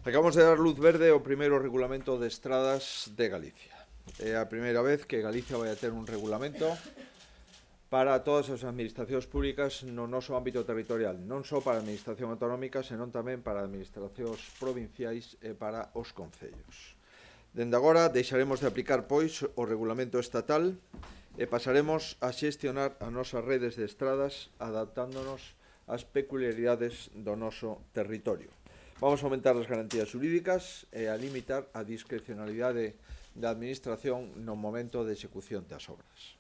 Acabamos de dar luz verde ao primeiro regulamento de estradas de Galicia. É a primeira vez que Galicia vai a ter un regulamento para todas as administracións públicas no noso ámbito territorial, non só para a administración autonómica, senón tamén para administracións provinciais e para os concellos. Dende agora deixaremos de aplicar, pois, o regulamento estatal e pasaremos a xestionar as nosas redes de estradas adaptándonos ás peculiaridades do noso territorio. Vamos a aumentar as garantías xurídicas e a limitar a discrecionalidade da administración no momento de execución das obras.